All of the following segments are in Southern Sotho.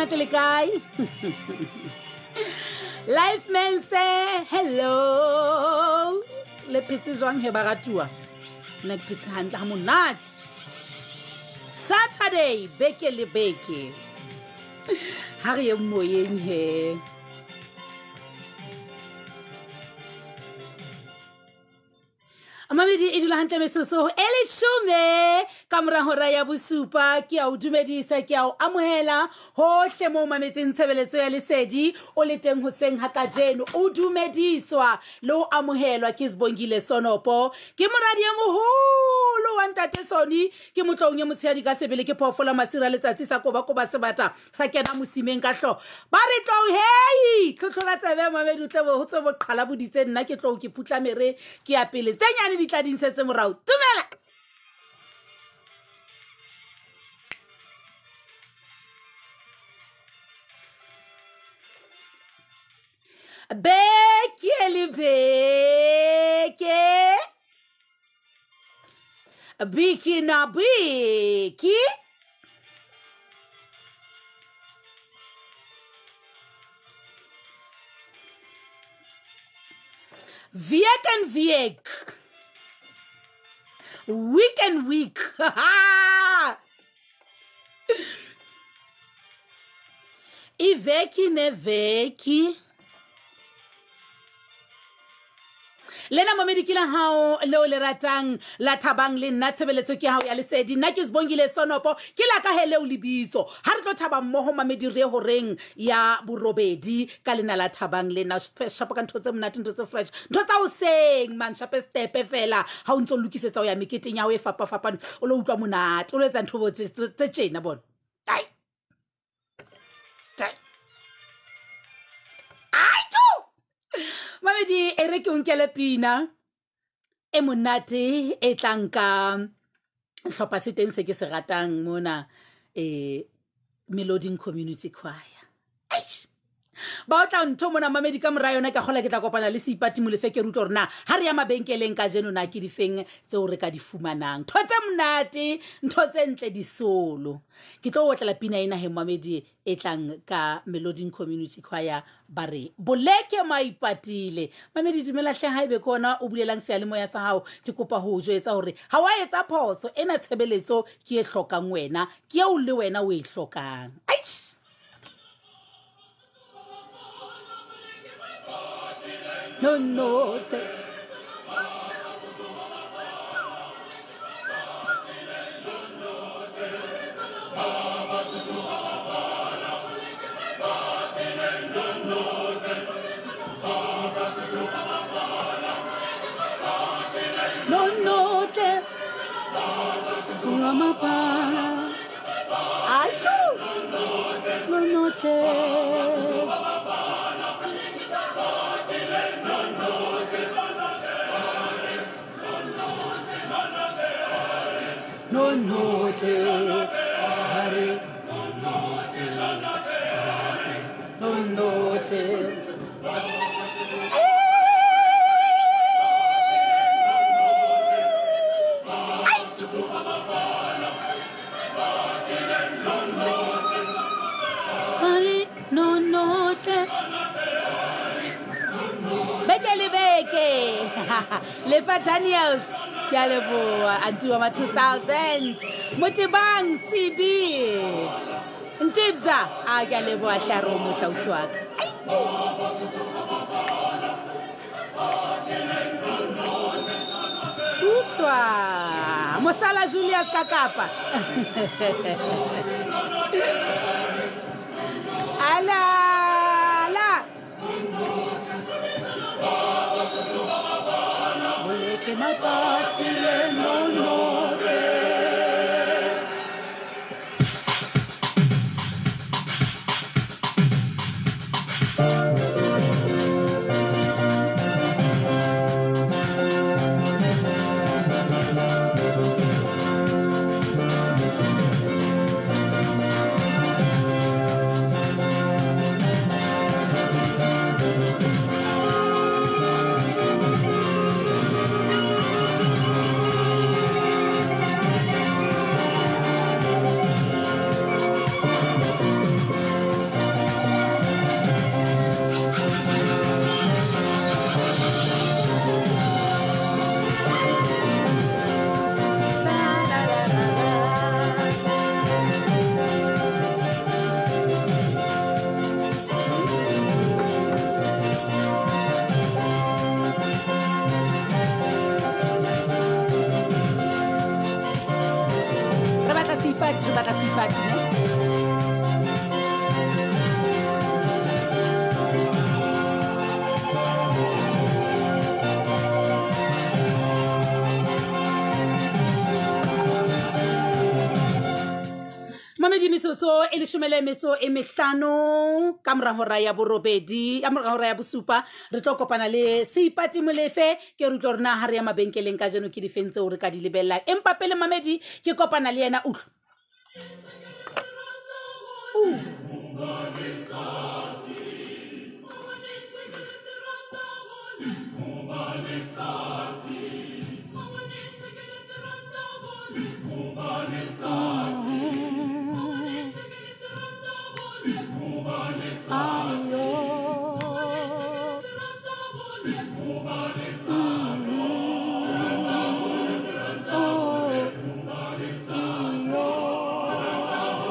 Monate le kae? Life man say hello. Le phetse jwang he baratuwa? Nna ke phetse hantle ha monate. Saturday beke le beke. Ha re ye moyeng he. Mamedi e dula hantle metsotso e leshome ka mora hora ya bosupa. Ke a o dumedisa, ke a o amohela hohle moo mametseng tshebeletso ya lesedi o le teng hoseng ha kajeno. O dumediswa le o amohelwa ke Sibongile Sonopo, ke moradi e moholo wa ntate Sony, ke motloung e motshehadi ka sebele, ke phoofolo masira letsatsi sa koba koba sebata sa kena mosimeng ka hlooho. Ba re tlou hei, tlhotlhora tsebe mamedi o tle ho tswe boqhala boditse nna ke tlou ke putla mere ke ya pele tse nyane di tla di ntshetse morao. Tumela. Beke le beke, biki na biki, week and week, week and week. Iveki neveki. Lena mamedi ke la hao leo le ratang la thabang le nna, tshebeletso ke hao ya lesedi. Nna ke Sibongile Sonopo, ke la ka he leo lebitso. Ha re tlo thaba mmoho mamedi re horeng ya borobedi ka lena la thabang le nna. Shapa ka ntho tse monate, ntho tse fresh, ntho tsa hoseng man, shape stepe fela ha o ntso lokisetsa ho ya meketeng ya hao e fapafapane, o lo utlwa monate, o lo etsa ntho tse tjena bona. Ai. Ai tjo. Mamedi e re ke o nkele pina e monate e tlang ka hlopha se teng se ke se ratang mona, Meloding Community Choir. Eish. Ba o tla ntho mona mamedi ka mora yona, ka kgola ke tla kopana le Seipati Molefe ke re utlwe hore na ha re ya mabenkeleng kajeno na ke difeng tseo re ka di fumanang. Ntho tse monate, ntho tse ntle disolo. Ke tlo otlela pina ena he mamedi e tlang ka Meloding Community Choir ba re boleke maipatile. Mamedi dumela hle, haebe ke ona o bulelang seyalemoya sa hao, ke kopa ho o jwetsa hore ha wa etsa phoso ena, tshebeletso ke e hlokang wena, ke eo le wena o e hlokang. Aish. No, no, te. No, no, te. Achu. No, no, te. No, no, te. Hare. No, no, te. Hare. No, no, te. Beke le beke. Lefa Daniels. Ke a leboha anti wa ma 2000. Motebang CB. Ntibza, a ke a leboha hlaro motla ausi wa ka. Utlwa. Mosala Julius Kakapa. Ala la. Boleke mapatile no no. Metsotso e leshome le metso e mehlano ka mora hora ya borobedi, ka mora hora ya bosupa, re tlo kopana le Seipati Molefe. Ke re utlwa hore na ha re ya mabenkeleng kajeno ke difeng tseo re ka di lebellang. Empa pele mamedi ke kopana le yena, utlwa.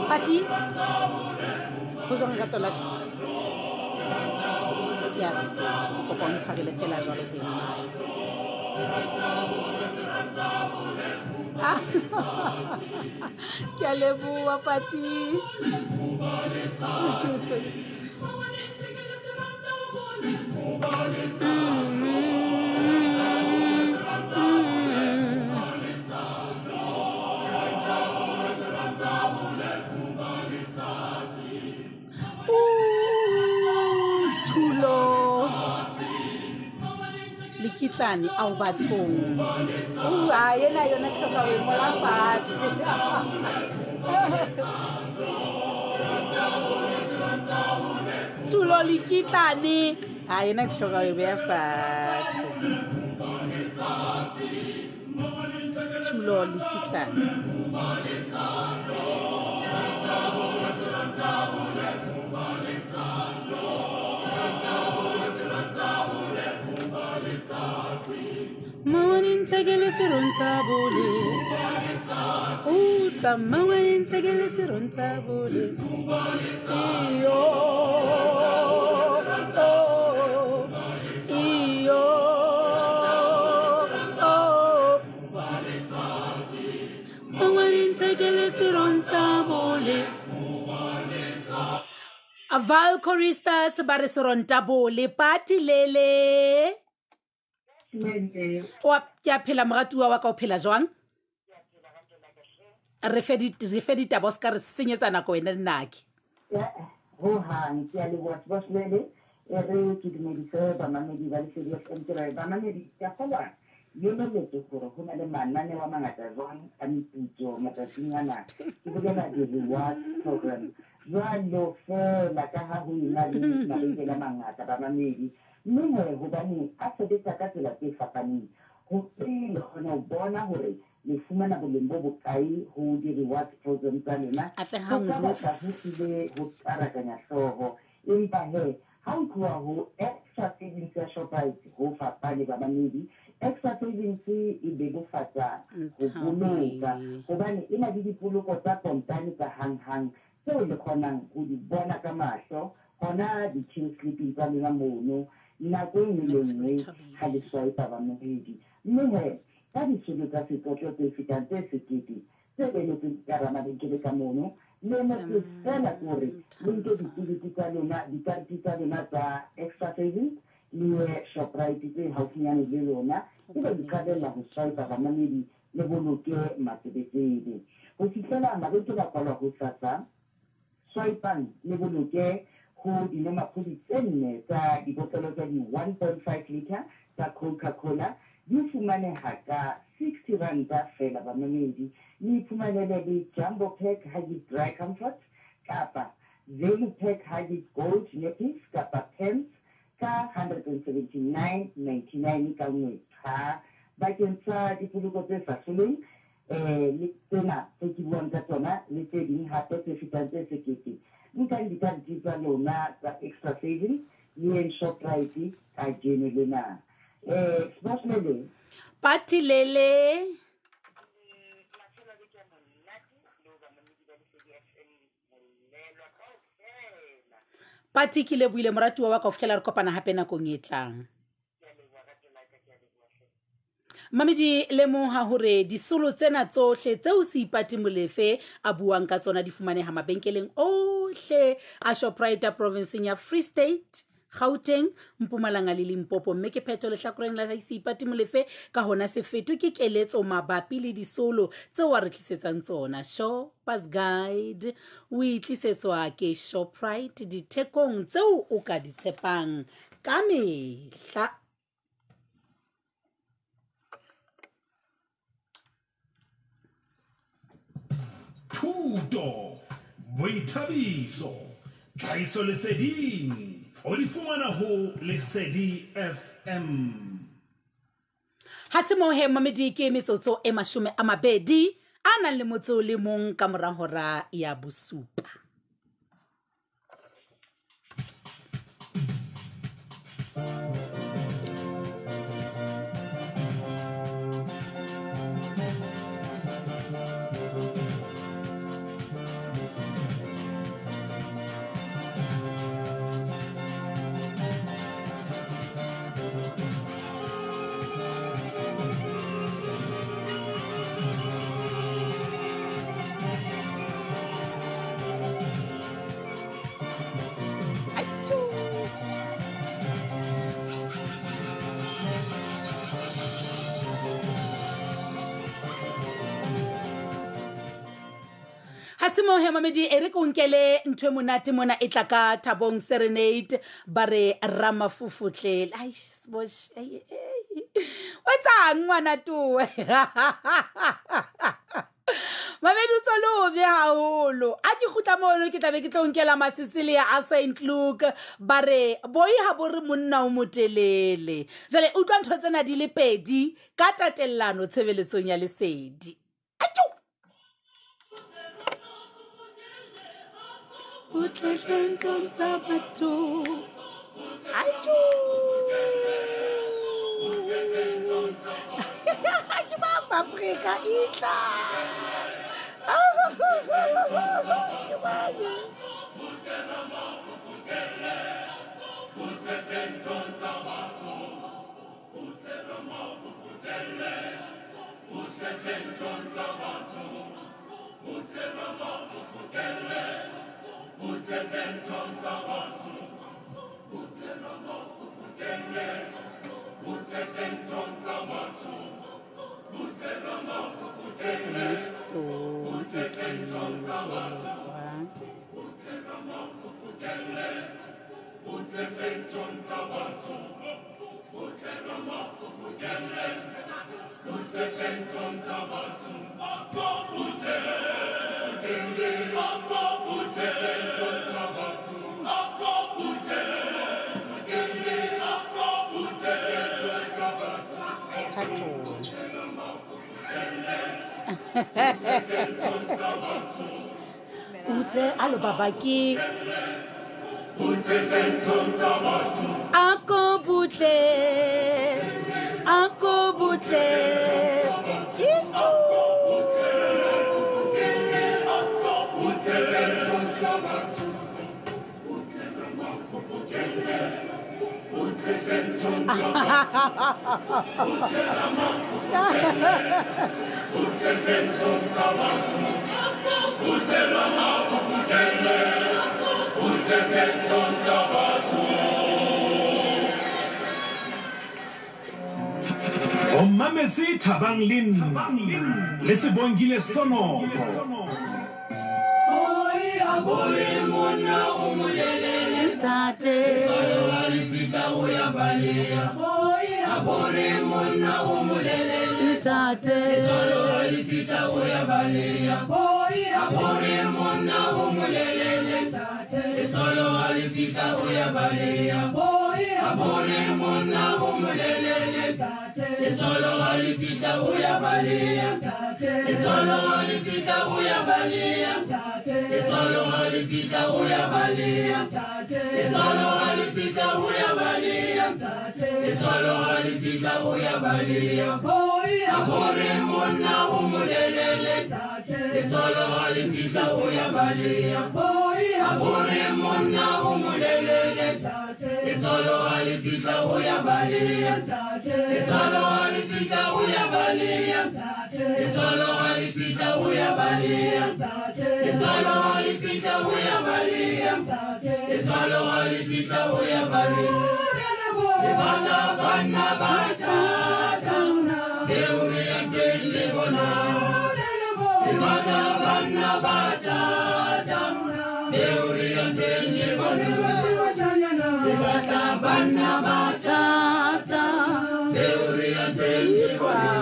Pati, go jwang lerato la ka? Ke a ke kopa o ntshwarele fela jwalo ho eng. Ke a leboha Pati. Thulo lekitlane ao bathong. A ena yona ke hloka ho e ngola fatshe. Thulo lekitlane, a ena ke hloka ho e beha fatshe. Thulo lekitlane. Mangwane nthekele serontsha bole. Utlwa mangwane nthekele serontsha bole. Iyo, oh, iyo, oh. Mangwane nthekele serontsha bole. Val Choristas ba re seronta bole. Pati lele. Wa ke a phela moratuwa wa ka, o phela jwang? Re fe ditaba, o se ka re senyetsa nako wena le nake. Ho hang ke a leboha Sebohlele. E re ke dumedise bamamedi ba Lesedi FM. Ke re bamamedi, ke a kgolwa yololetse hore ho na le mananeo a mangata jwang a meputso matsatsing ana. Ke bolela di-reward program jwalo fela ka ha ho ena le mabenkele a mangata bamamedi. Mme he hobane a sebetsa ka tsela tse fapaneng, hore le kgone ho bona hore le fumana boleng bo bokae ho di-reward program tsa lona, ho Atlehang ka Ruth. batla ho hlile ho tarakanya hlooho. Empa he ha o tloha ho Extra Savings ya Shoprite ho fapane bamamedi. Extra Savings e bebofatsa ho boloka Nthabi. hobane e na le dipoloko tsa kontane tsa hanghang tseo le kgonang ho di bona ka mahlo hona di-till slip-ing tsa lona mono nako e nngwe le Max nngwe ha le Thabile. swipe bamamedi. Mme he ka disolo tsa setlotlo tse fetang tse 1000 tse emetseng ka hara mabenkele ka mono, le emetse fela ke hore le nke Sam ditikete tsa lona, dikarete tsa lona tsa Extra Savings le ye Shoprite tse haufinyane le lona, ebe le Hobaneng qalella ho swipe bamamedi, le boloke matsebetsebe. Ho fihlela mabenkele a kwalwa hosasa, swipang le boloke ho dinomaphodi tse nne tsa dibotlolo tsa di 1.5 liter tsa Coca-Cola, di fumaneha ka 60 ranta fela bamamedi. Le iphumanele le Jumbo Pack Huggies Dry Comfort kapa Value Pack Huggies Gold Nappies kapa Pants ka 179.99 ka nngwe. Cha, bakeng sa dipoloko tse sa hloleng le tsena tse ke buang ka tsona le tse ding hape tse fetang tse 1000, nkang dikarete tsa lona tsa Extra Savings le yeng Shoprite kajeno lena. Sebohlele. Pati lele. Pati ke lebohile moratuwa wa ka ho fihlela re kopana hape nakong e tlang. Mamedi, lemoha hore disolo tsena tsohle tseo Seipati Molefe a buang ka tsona di fumaneha mabenkeleng ohle a Shoprite provinceng ya Free State, Gauteng, Mpumalanga le Limpopo. Mme ke phetho lehlakoreng la Seipati Molefe ka hona se fetwe ke keletso mabapi le disolo tseo a re tlisetsang tsona. Shoppers Guide o itlisetswa ke Shoprite dithekong tseo o ka di tshepang ka mehla. Thuto, boithabiso, tlhahisoleseding o di fumana ho Lesedi FM. Ha se moo he mamedi ke metsotso e 20 a nang le motso le mong ka mora hora ya bosupa. He mamedi e re ko nkele ntho e monate mona e tla ka Thabong Serenade ba re Ramafofotle. Ai sbosh ai o tsang ngwana towe. Mamedi o solobe haholo. A ke kgutla mono ke tlabe ke tlo nkela Masisilia a St Luke ba re boi ha bo re monna o motelele. Jwale utlwa ntho tsena di le pedi ka tatellano tshebeletsong ya Lesedi. Butle ntlong tsa batho. Aitjo. Ke ba Afrika itla. Ke ba. Butle ntlong tsa batho. Butle Ramafufutele. Butle ntlong tsa batho. Butle Ramafufutele. Butle ntlong tsa batho. Butle Ramafufutele. Butle ntlong tsa batho. Butle Ramafufutele. Butle ntlong tsa batho. Butle Ramafufutele. Butle ntlong tsa batho. Butle Ramafufutele. Butle ntlong tsa batho. Butle Utle alo baba ke ako butle itjo. O mametse Thabang le nna le Sebongile Sonoko. Ntate Ntate Letswalo ha le fihla ho ya baleng. Re batla banna ba thata, eo re yang teng le bona. Re batla banna ba thata, eo re yang teng le bona. Re batla banna ba thata, eo re yang teng le bona.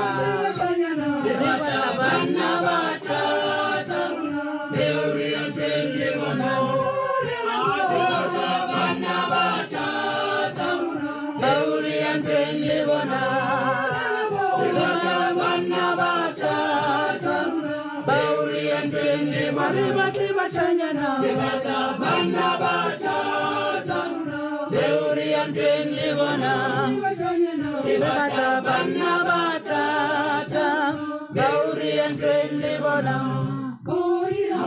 Re batla banna ba thata, eo re yang teng le bona. Re batla banna ba thata, eo re yang teng le bona. Re batla banna ba thata, bao re yang teng le bona. Re batle bashanyana. Re batla banna ba thata, eo re yang teng le bona. Re batla banna ba thata, bao re yang teng le bona.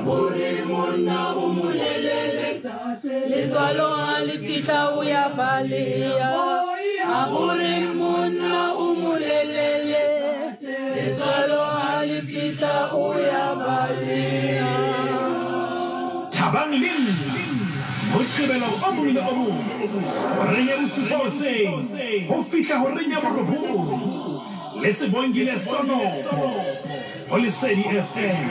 Hore monna o molelele, letswalo ha le fihla o ya baleha. Hore monna o molelele, letswalo ha le fihla o ya baleha. Thabang le nna Moqebelo o mong le o mong horeng ya bosupa hoseng ho fihla horeng ya borobong le Sebongile Sonopo ho Lesedi FM.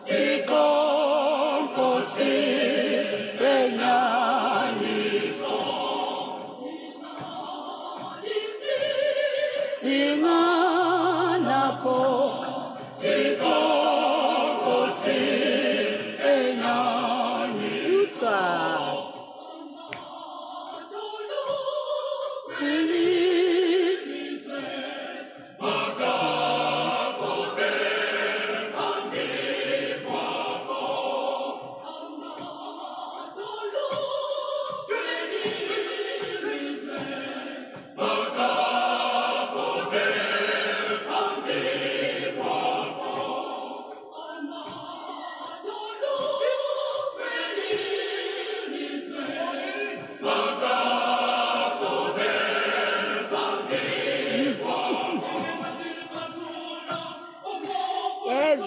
Thixo enyaniso, Dinganako, Thixo Nkosi enyaniso. Yes.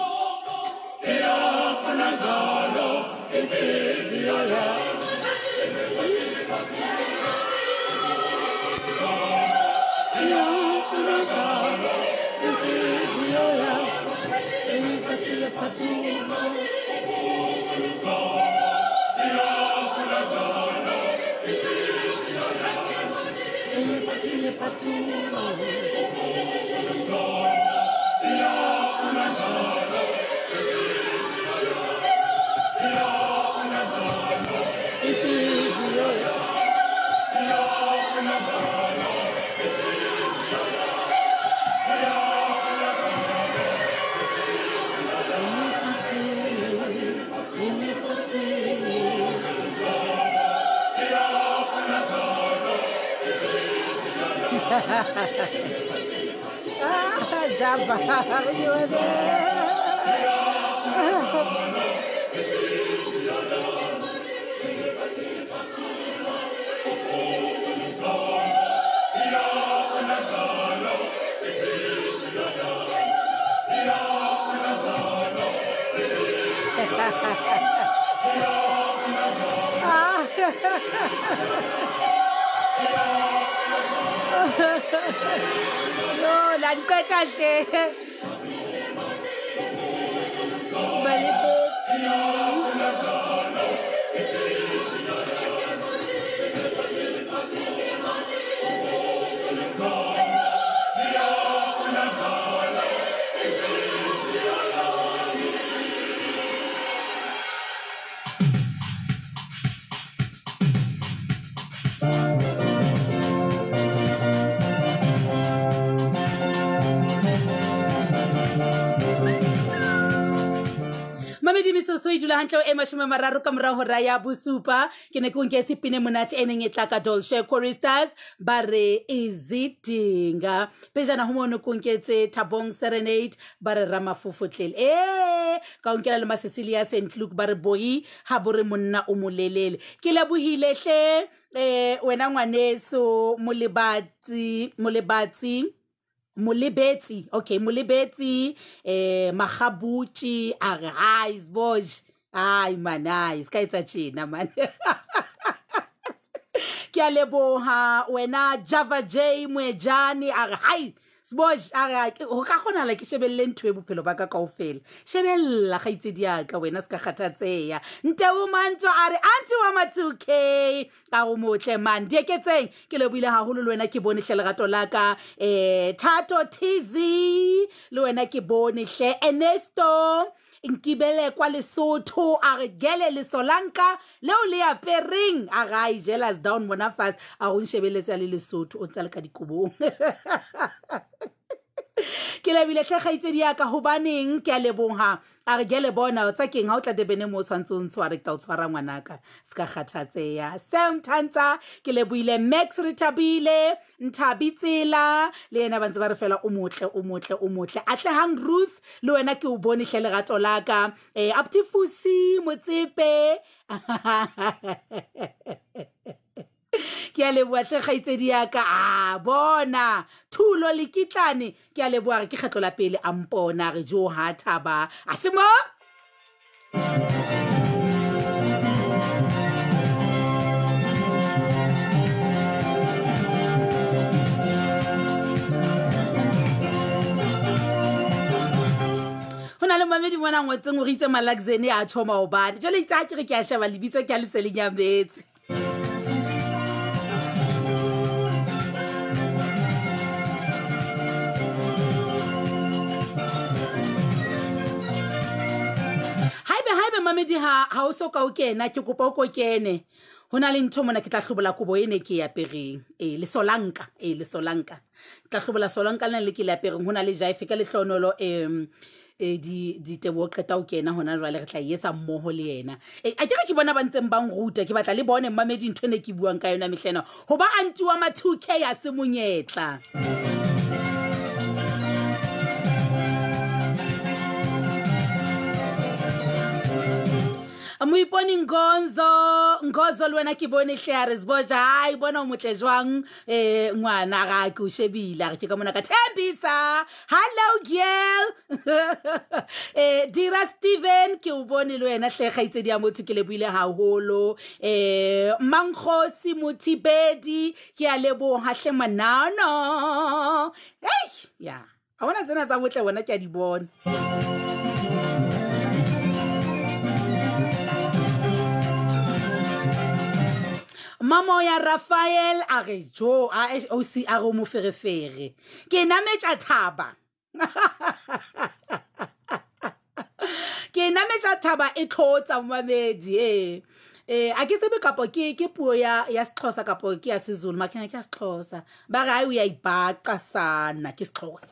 Ah, Java. Ah. No, la nqeta hle. Balebetsi. Metsotso e dula hantle e 30 ka mora hora ya bosupa. Ke ne ke o nketse pine monate e neng e tla ka Dolce Choristers ba re izidinga. Pejana ho mono ko nketse Thabong Serenade ba re Ramafofotlele. Ka o nkela le Cecilia St Luke ba re boi ha bo re monna o molelele. Ke lebohile hle wena ngwaneso Molebatsi Molebetsi, okay, Molebetsi, Magabuchi, a re hi Sboj. Ai man, ai, ska etsa tjena man. Ke a leboha wena Java J Moejane, a re hi Sboj, a re ho ka kgonahala ke shebelle ntho e bophelo ba ka kaofela. Shebella kgaitsedi ya ka wena ska kgathatseha. Ntebo Mantso a re auntie wa ma 2K. Ka o motle man, dieketseng ke lebohile haholo le wena ke bone hle lerato la ka. Thato TZ le wena ke bone hle. Ernesto Nkibele kwa Lesotho a re gele lesolanka leo le apereng, a re ai jealous down mona fast, a go nshebeletse le Lesotho o ntsa le ka dikobong. Ke lebile hle kgaitsedi ya ka, hobaneng ke a leboha. A re gele bona tsa keng ha o tla Durban mo o tshwantse o ntshware, ke tla o tshwara ngwanaka, se ka kgathatseha. Sam Tantsa ke lebohile. Max Rethabile Nthabi Tsela le yena ba ntse ba re fela o motle o motle o motle. Atlehang Ruth le wena ke o bone hle lerato la ka. Aptifusi Motsepe ke a leboha hle kgaitsedi ya ka. A bona Thulo Lekitlane ke a leboha, re ke kgetlo la pele a mpona, re jo ha thaba a se mo. Ho na le mamedi mona ngotseng o re itse Malaxene a tjho maobane. Jwale itse ha ke re ke a sheba lebitso ke a le se le nyametse. Haebe mamedi ha o so ka o kena, ke kopa o ko kene. Ho na le ntho mona ke tla hlobola kobo ene ke e apereng. Lesolanka, lesolanka. Ke tla hlobola solanka lena le ke le apereng. Ho na le jaife ka lehlonolo, diteboho qeta ho kena hona jwale, re tla e etsa mmoho le yena. A ke re ke bona ba ntseng ba nruta, ke batla le bone mamedi ntho ene ke buang ka yona mehlena. Ho ba auntie wa ma 2K ya se monyetla. Moipone Ngonzo le wena ke bone hle a re Sboja, hai bona o motle jwang, ngwana ga ke o shebile, a re ke ka mona ka Thembisa. Hello girl. Dira Steven ke o bone le wena hle kgaitsedi ya motho, ke lebohile haholo. Mankgosi Mothibedi ke a leboha hle manana. Ei ya, a bona tsena tsa botle bona ke a di bona. Mamo ya Raphael a re jo a OC a re mo ferefere. Ke nametsa thaba. Ke nametsa thaba e tlotsa mamedi a ke tsebe kapo ke puo ya Sexhosa kapo ke ya Sezulu, makena ke ya Sexhosa. Ba re ai o ya ibaqa sana ke Sexhosa.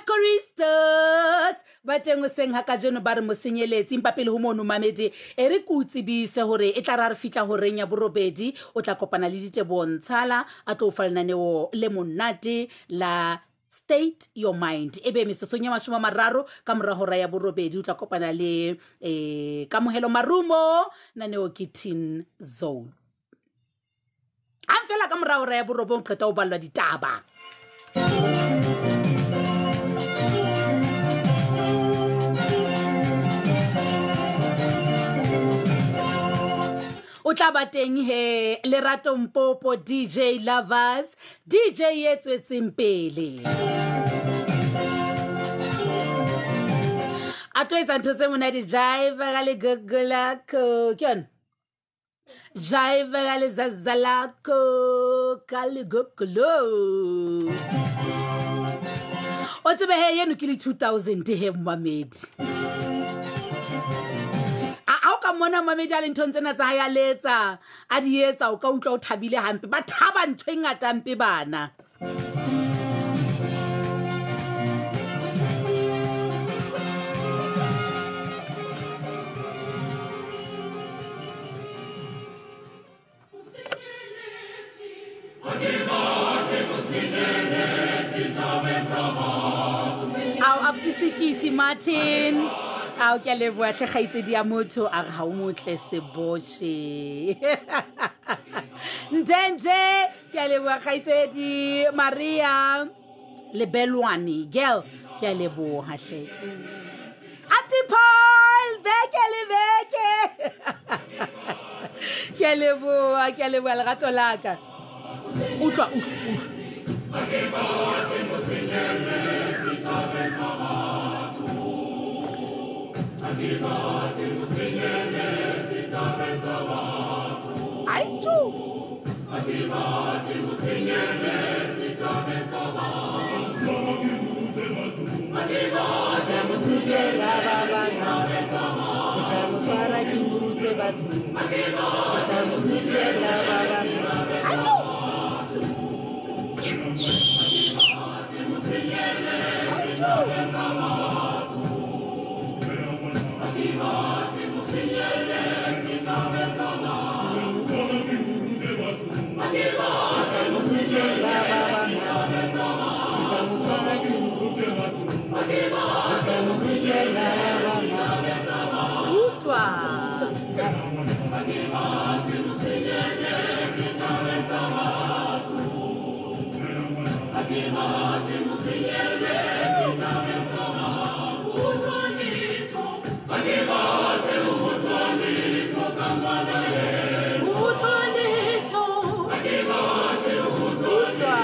Choristas ba teng hoseng ha kajeno ba re mosenyeletse, empa pele ho mono mamedi e re ke o tsebise hore e tla ra re fihla horeng ya borobedi, o tla kopana le Diteboho Ntshala a tlo o fa lenaneo le monate la State Your Mind. Ebe metsotsong ya 30 ka mora hora ya borobedi o tla kopana le Kamohelo Marumo, naneo ke Teen Zone. Ha fela ka mora hora ya borobong qeta o ballwa ditaba. O tla ba teng he Lerato Mpopo, DJ Lovers, DJ e tswetseng pele. A tlo etsa ntho tse monate, jive ka legogo lako. Ke yona? Jive ka lezaza lako, ka legogo lo. O tsebe he yeno ke le 2000 he mmamedi. mona mamedi a le nthong tsena tsa hae a letsa a di etsa o ka utlwa o thabile hampe ba thaba ntho e ngata mpe bana. Ao aptisekisi Martin ao ke a leboha hle kgaitsedi ya motho a re ha o motle seboshe ntente ke a leboha kgaitsedi Maria Lebelwane girl ke a leboha hle Ati Paul beke le beke ke a leboha ke a leboha lerato la ka utlwa utlwa utlwa Ai tu. Ai tu. Ai tu. Utlwa. Utlwa letho. Utlwa.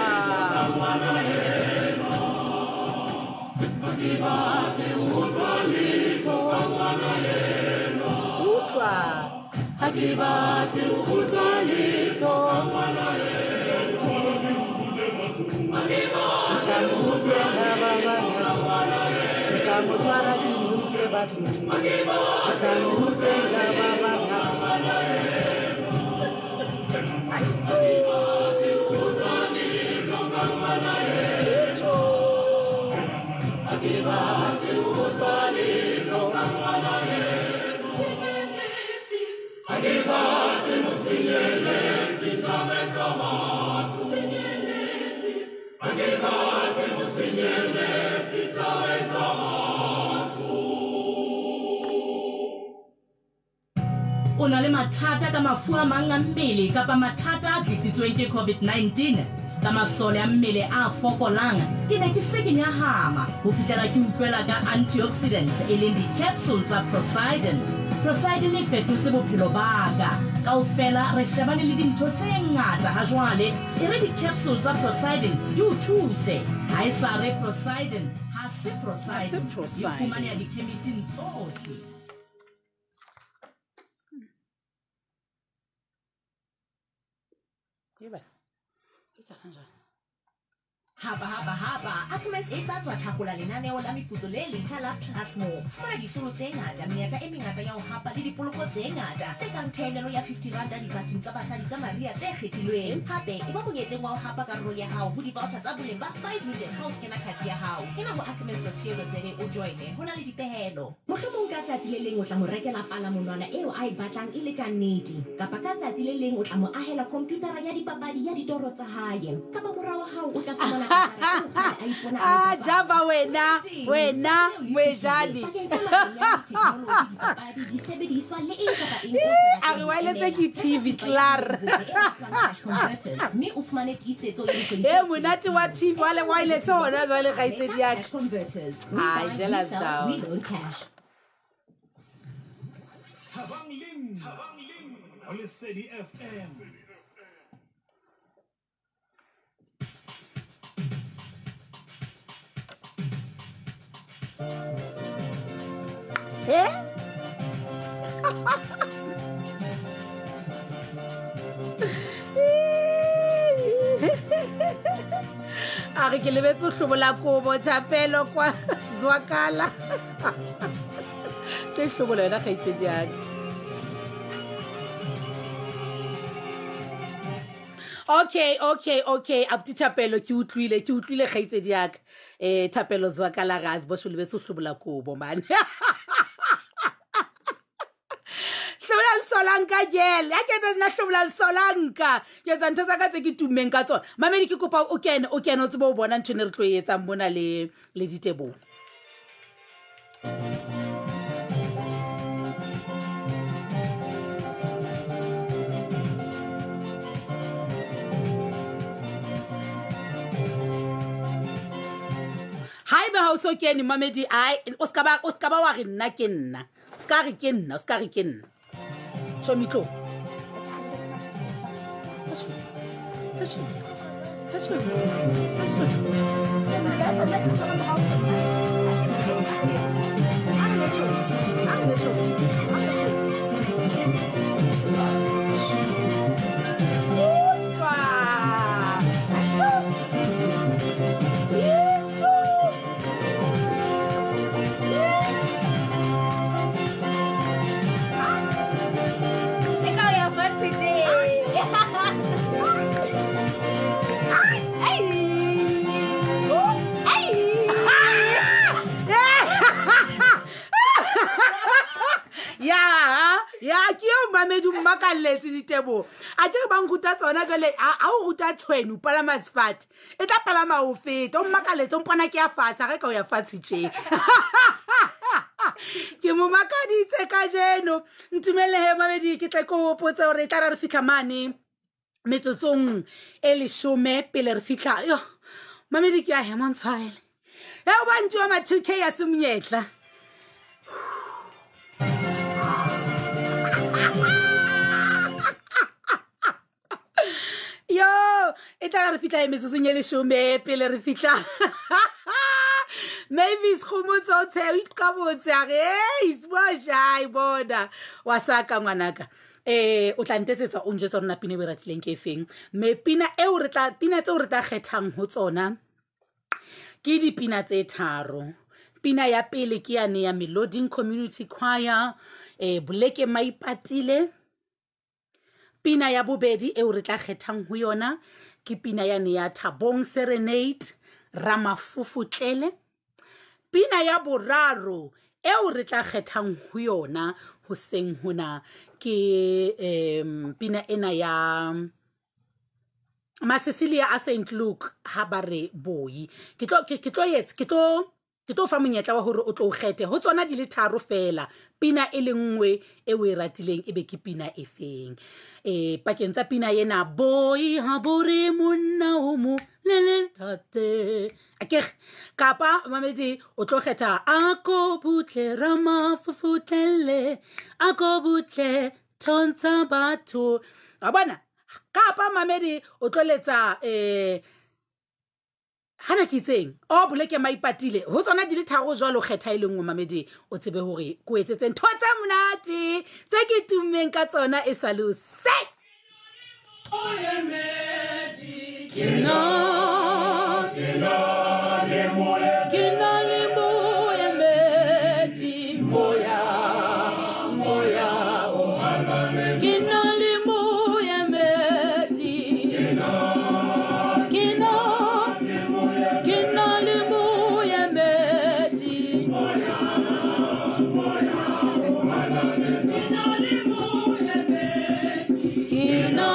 Utlwa. Ha ke batle ho utlwa letho. Ke tla mo rutela ba bangata. Ke tla mo tshwara ke mo rute batho. Ke tla mo rutela ba bangata. Ai tu. O na le mathata ka mafu a mang a mmele kapa mathata a tlisitsweng ke COVID-19 ka masole a mmele a fokolang ke ne ke se ke nyahama ho fihlela ke utlwela ka antioxidant e leng di-capsule tsa Prosidin. Prosidin e fetotse bophelo ba ka. Kaofela re shebane le dintho tse ngata ha jwale e re di-capsule tsa Prosidin di o thuse. Ha e sa re Prosidin ha se Ha se Prosidin. Di Prosidin. fumaneha dikhemising tsohle. Eba. Etsahalang jwale? Hapa hapa hapa Ackermans e sa tswa thakgola lenaneo la meputso le letjha la Plasmo. Fumana disolo tse ngata, menyetla e mengata ya ho hapa le dipoloko tse ngata tse kang theolelo ya 50 ranta dibakeng tsa basadi tsa Maria tse kgethilweng. Hape e ba monyetleng wa ho hapa karolo ya hao ho di-voucher tsa boleng ba 5 million ha o skena card ya hao. Kena ho ackermans.co.za o joine. Ho na le dipehelo. Mohlomong ka tsatsi le leng o tla mo rekela palamonwana eo a e batlang e le ka nnete, kapa ka tsatsi le leng o tla mo ahela komputara ya dipapadi ya ditoro tsa hae, kapa mora wa hao o tla fumana katara eo kgale a ipona a e Ah, bapala. Java wena, wena Moejane. Bakeng sa matlole a ditheknoloji, dipapadi, disebediswa le eng kapa eng o sa A re batleng ho wireless emela. ke TV Reka thepa ya klaar. hao e bitswang Cash Converters, mme o fumane tiisetso ya dikgwedi E tse monate wa TV wa le wireless hona jwale kgaitsedi ya ka. Cash Converters. We Ai, buy, we jealous sell, we down. loan cash. Thabang le nna ho Lesedi FM. Eh? A re ke lebetse ho hlobola kobo thapelo kwa zwakala. Ke hlobola yona kgaitsedi ya ka. Okay, okay, okay. Abuti Thapelo, ke utlwile, ke utlwile kgaitsedi ya ka. Thapelo zwakala gazi bo sholo beso hlobola kobo man. Hlobola lesolanka gel. Ya ke etsa nna hlobola lesolanka. Ke etsa ntho tsa ka tse ke tummeng ka tsona. Mamedi ke kopa o kene, o kene o tsebe o bona ntho e ne re tlo e etsang mona le le diteboho. Haebe ha o so kene mamedi, ai o ska ba, o ska ba wa re nna ke nna. O ska re ke nna, o ska re ke nna. Chomi tlo. Ya, ya, ke eo mamedi o mmakalletse diteboho. A ke re ba nruta tsona jwale, a o ruta tshwene, o palama sefate. E tla palama o feta, o mmakalletse, o mpona ke ya fatshe, ha re ka o ya fatshe tje. Ke mo makaditse kajeno. Ntumelle he mamedi, ke tle ke o hopotse hore e tla re re fihla mane metsotsong e leshome pele re fihla. Yo, mamedi ke a hema, ntshwarele. Ya o ba ntuwa ma 2K ya se monyetla. Yo, e tla re fihla e metsotsong e leshome pele re fihla. Maybe Sekgomotso o tshe, o iqabotse a re, hey, Sibosha, bona. Wa saka ngwanaka. O tla ntetsetsa o njwetsa hore na pina e o e ratileng ke efeng. Mme pina eo re tla, pina tseo re tla kgethang ho tsona ke dipina tse tharo. Pina ya pele ke yane ya Meloding Community Choir, Boleke Maipatile. Pina ya bobedi eo re tla kgethang ho yona ke pina yane ya Thabong Serenade, Ramafofotlele. Pina ya boraro eo re tla kgethang ho yona hoseng hona ke pina ena ya Masesilia a Saint Luke ha ba re boi. Ke tlo, ke, ke tlo etsa, ke tlo, ke tlo fa monyetla wa hore o tlo kgethe ho tsona di le tharo fela. Pina e le nngwe e o e ratileng e be ke pina e feng. Pakeng tsa pina ena boi ha bo re monna o mo le le tate. Akere kapa mamedi o tlo kgetha a ko butle ramafofotlele, a ko butle thontsha batho. Wa bona? Kapa mamedi o tlo letsa hana ke itseng o Boleke Maipatile ho tsona di le tharo jwalo kgetha e le nngwe mamedi o tsebe hore ko etsetse ntho tse monate tse ke tummeng ka tsona e sa le o se. Ke na, ke na le moemedi, moya, moya o. Ke na le moemedi, ke na, ke na le moemedi. Ke na,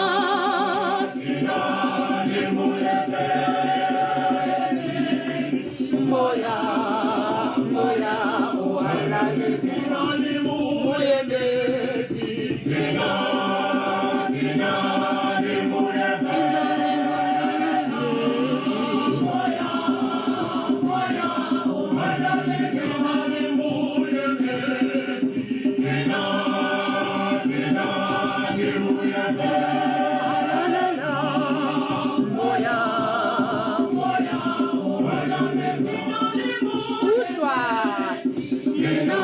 moya, moya o halale, moemedi. Ke na le moemedi. Moya, utlwa. Ke na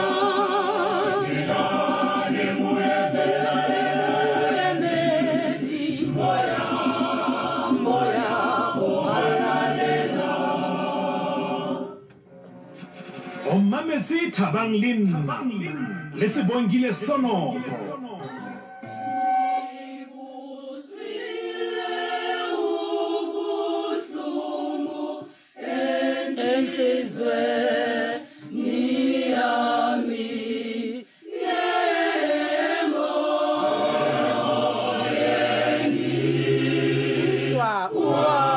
moemedi, moya o halalela. O mametse Thabang le nna le Sebongile Sonoko. Enhlizweni yami. Utlwa, utlwa.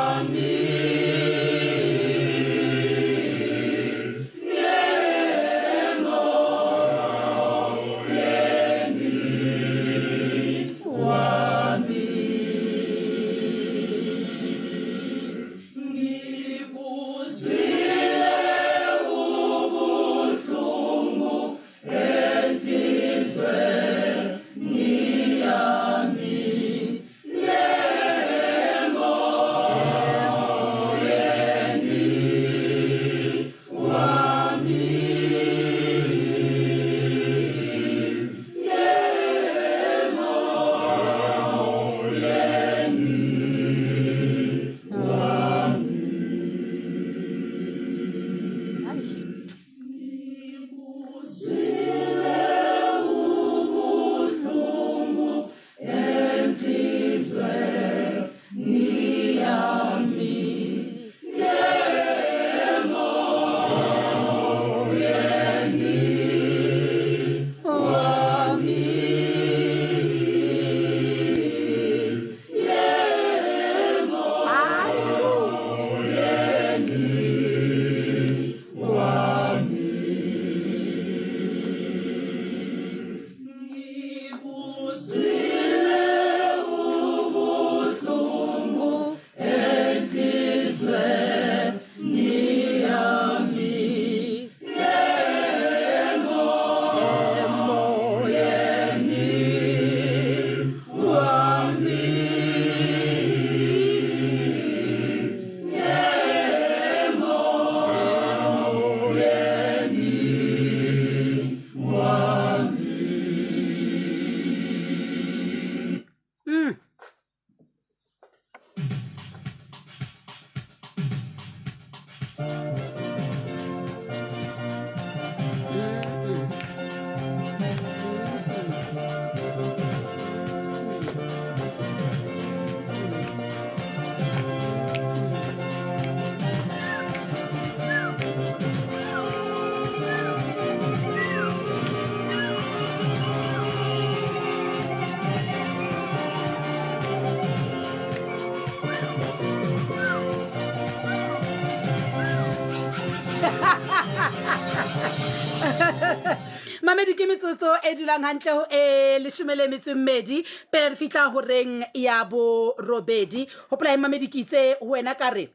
Mamedi, ke metsotso e dulang hantle ho e 12 pele re fihla horeng ya borobedi. Hopola he mamedi, ke itse ho wena ka re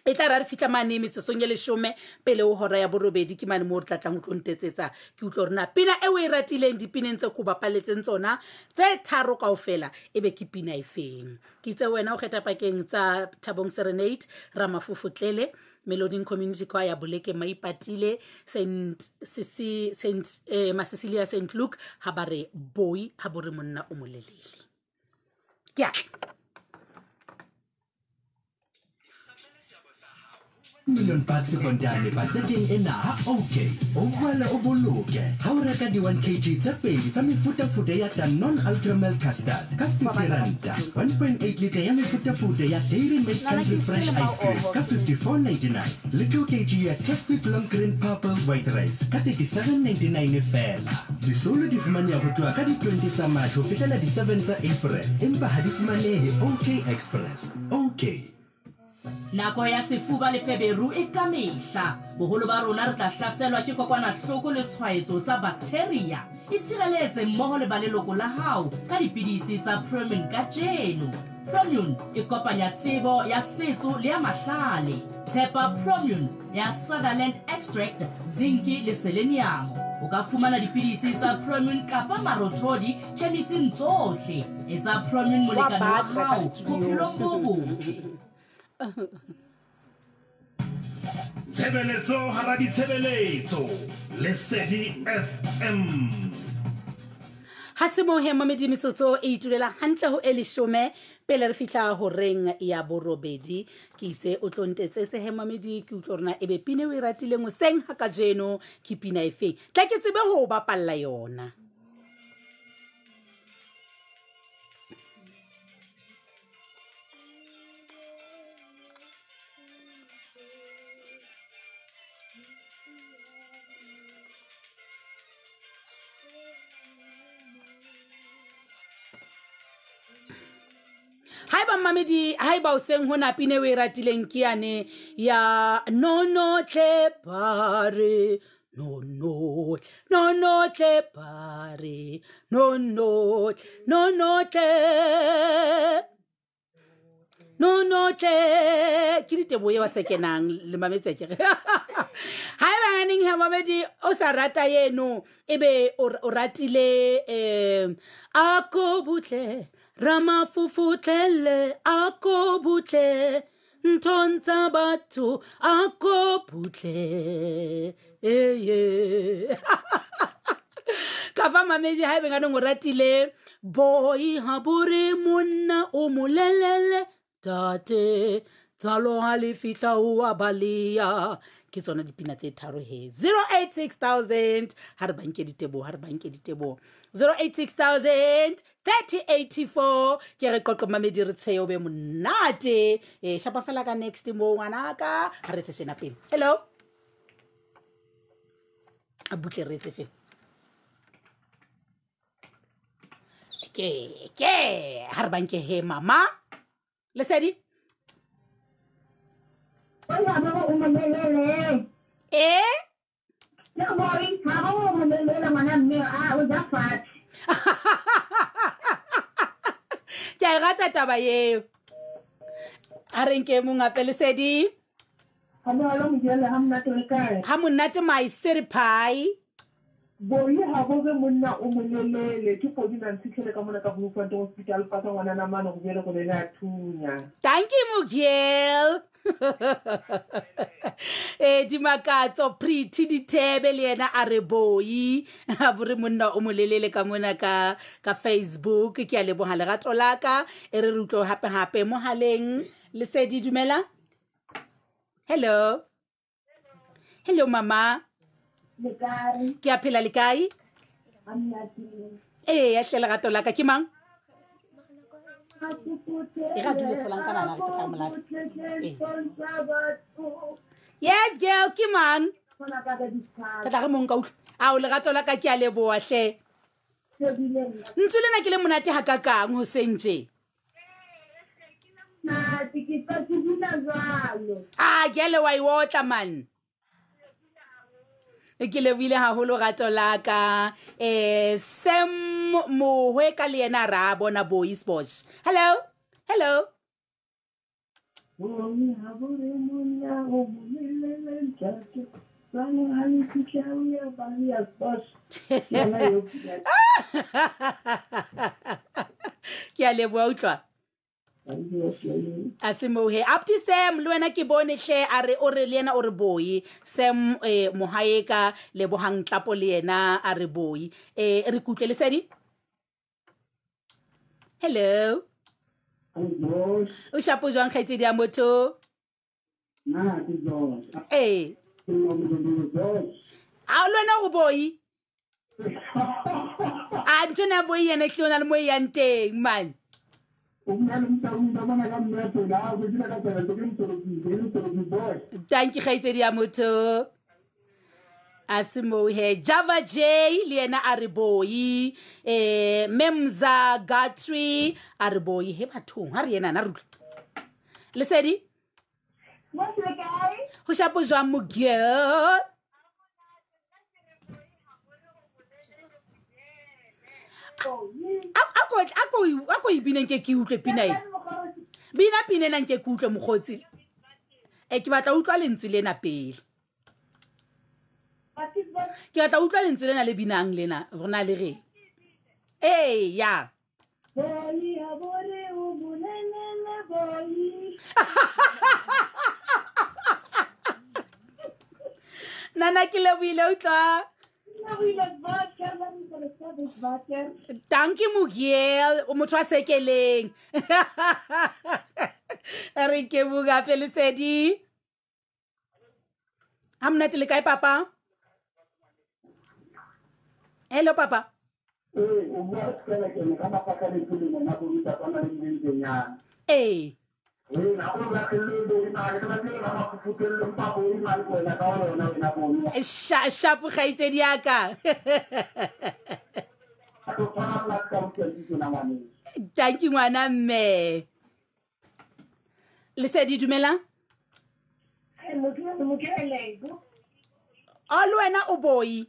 e tla ra re fihla mane metsotsong e 10 pele ho hora ya borobedi, ke mane moo re tla tlang ho tlo ntetsetsa. Ke utlwe hore na pina e o e ratileng dipineng tse ko bapaletseng tsona tse tharo kaofela e be ke pina efeng. Ke itse wena o kgetha pakeng tsa Thabong Serenade, Ramafofotlele, Meloding Community Choir, Boleke Maipatile, Saint Sisi, Saint Masicilia, Saint Luke, ha ba re boi ha bo re monna o molelele. Ke a tla. Million bucks bondane baseteng ena ha okay o boela o boloke ha o reka di 1 kg tse pedi tsa mefutafuta ya Danone Ultra Milk Custard ka 50 ranta, 1.8 liter ya mefutafuta ya Dairy Milk Country Fresh Ice Cream ka 54.99 le 2 kg ya Chestnut Long Green Purple White Rice ka 37.99 fela. Disolo di fumaneha ho tloha ka di 20 tsa March ho fihlela di 7 tsa April, empa ha di fumanehe OK Express. OK. Nako ya sefuba le feberu e ka mehla. Boholo ba rona re tla hlaselwa ke kokwanahloko le tshwaetso tsa bacteria. Itshireletse mmoho le ba leloko la hao ka dipidisi tsa Promune kajeno. Promune e kopanya tsebo ya setso le ya mahlale. Tshepa Promune ya Sutherland Extract, zinc le selenium. O ka fumana dipidisi tsa Promune kapa marothodi chemising tsohle. Etsa Promune molekane wa hao bophelong bo botle. Tshebeletso hara ditshebeletso, Lesedi FM. Ha se mo he mamedi, metsotso e itulela hantle ho e 10 pele re fihla horeng ya borobedi. Ke itse o tlo ntetsetse he mamedi, ke utlwe hore na ebe pina o e ratileng hoseng ha kajeno ke pina efeng. Tla ke tsebe ho o bapalla yona. ba mmamedi ha eba o seng ho na pine o e ratileng ke yane ya nonotle bare nonotle nonotle bare nonotle nonotle nonotle ke diteboho e wa se kenang le mametse kere ha eba neng ha mamedi o sa rata yeno ebe o ratile a ko butle ramafufutlele a ko butle nthong tsa batho a ko butle eye ka fa mamedi ha ebe nganong o ratile boi ha bore monna o molelele tate tsalo ha le fihla o a baleya. Ke tsona dipina tse tharo he. 086 000 ha re banke diteboho, ha re banke diteboho. 086 000 3084 ke re qoqo mamedi re tsheyo be monate. Shapa fela ka next mo ngwanaka ha re tse shena pele. Hello. A butle re tse tjena. Ke ha re banke he mama. Lesedi. Eh? Ke a e rata taba eo. A re nke mong hape Lesedi. Ha monate my city pie. Boi ha bo re monna o molelele ke podi na ntshitlhele ka mona ka Bloemfontein Hospital pata ngwana na mane go bele go le la thunya. Thank you Mugiel. Dimakatso Pretty Dithebe le yena a re boi ha bo re monna o molelele ka mona ka Facebook. Ke a leboha lerato la ka e re re utlwe hape hape mohaleng. Lesedi dumela. Hello. Hello mama. Ke a phela le kae? Ee, hle lerato la ka ke mang? E ra dule solang kana na re ke tla molata. Yes girl ke mang? Ke tla re mong ka utlwa. Ao lerato la ka ke a leboha hle. Ntse lena ke le monate ha ka kang ho sentje. Ah ke le wa e otla man. Ke lebohile haholo rato la ka. Sam Mohwe ka le yena ra bona Boy Sports. Hello. Hello. Ke a leboha utlwa. A se mohe up to Sam le wena ke bone hle a re o re le yena o re boi Sam mohae ka lebohang tlapo le yena a re boi re kutlwe Lesedi. Hello. O shapo jwang kgaitsedi ya motho? Na ke jwang? A le wena o boi? A ntho na boi yena hle o na le mo yang teng man. Thank you kgaitsedi ya motho. A se mohe Java J le yena a re boi Memza Gatri a re boi he bathong ha re yena na re utlwe. Lesedi. Ho shapo jwang mo girl? A ko ibineng ke ke utlwe pina e. Bina pina ena nke ke utlwe mokgotsi. Ke batla utlwa lentswe lena pele. Ke batla utlwa lentswe lena le binang lena rona le re. Ee ya. Boi ha bore o bolelele boi. Nana ke lebohile utlwa. Thank you Mugiel, o motho wa sekeleng. Re ke buka pele Lesedi. Ha monate le kae papa? Hello papa. O bua fela ke ne ka mafaka le pele mona go ruta tsana le mmentseng. Ee. Shapo kgaitsedi ya ka. Thank you ngwana mme. Lesedi, dumelang. A le wena o boi.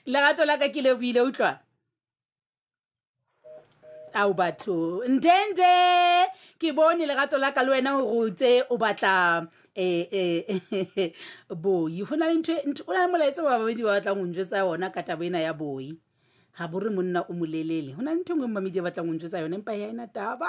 Lerato la ka ke le buile, utlwa. Ao batho, ndende ke bone lerato la ka le wena hore o tse o batla boi. Ho na le ntho, o na le molaetsa ba babedi ba batlang ho njwetsa yona ka taba ena ya boi. Ha bo re monna o molelele. Ho na le ntho e nngwe mamedi ba batlang ho njwetsa yona, empa ya ena taba.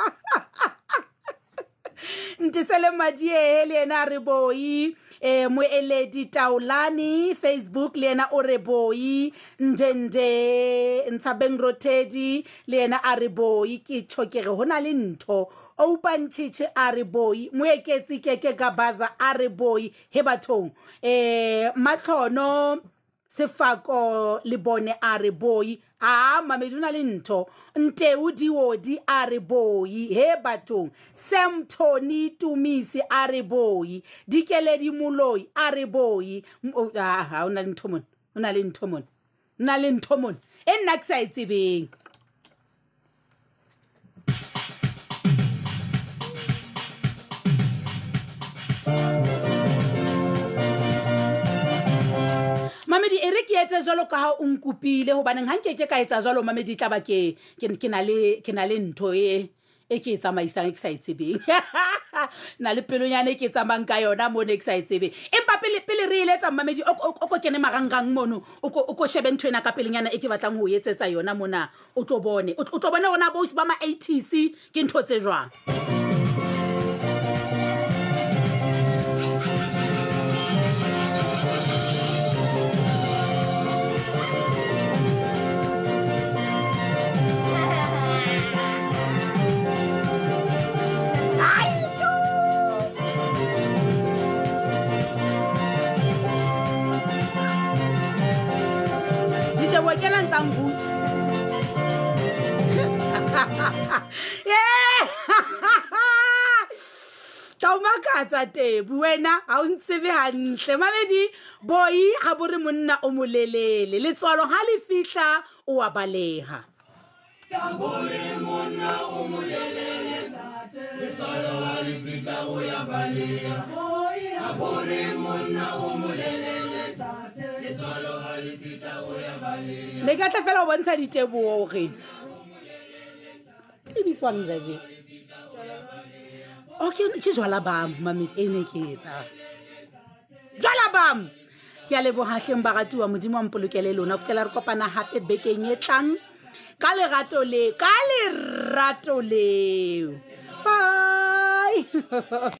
Ntisele Madiehe le yena a re boi. Moeledi Taolane Facebook le yena o re boi. Ndende Ntshabeng Rothedi le yena a re boi. Ke tjho ke re ho na le ntho. Open Chiche a re boi. Moeketsi Keke Gabaza a re boi. He bathong. Matlhono Sefako le bone a re boi. A mamedi o na le ntho. Nteu Diodi a re boi. He bathong. Sam Tony Tumisi a re boi. Dikeledi Moloi a re boi. Ha o na le ntho mona. O na le ntho mona. O na le ntho mona. E nna ke sa e tsebeng. Mamedi, e re ke etse jwalo ka ha o nkopile, hobaneng ha nke ke ka etsa jwalo, mamedi, tla ba ke na le, ke na le ntho e ke e tsamaisang e ke sa e tsebeng. Na le pelonyana e ke tsamayang ka yona mona e ke sa e tsebeng. Empa pele re eletsa, mamedi, o ko kene marangrang mono, o ko shebe ntho ena ka pelenyana e ke batlang ho etsetsa yona mona, o tlo bone. O tlo bone hore na boausi ba ma ATC ke ntho tse jwang. Tsa tebu wena ha o ntsebe hantle. Mamedi, boi ha bo re monna o molelele, letswalo ha le fihla o a baleha. Ha bo re monna o molelele, letswalo ha le fihla o ya baleha. Ha bo re monna o molelele, letswalo ha le fihla o ya baleha. Ne ka tla fela o bontsha diteboho hore e bitswang Javier. Okay, ke jwala bam, mamedi, e ne ke etsa. Jwala bam. Ke a leboha hleng baratuwa, Modimo a mpolokele lona. Ho fihlela re kopana hape bekeng e tlang. Ka lerato le, ka lerato leo. Bye.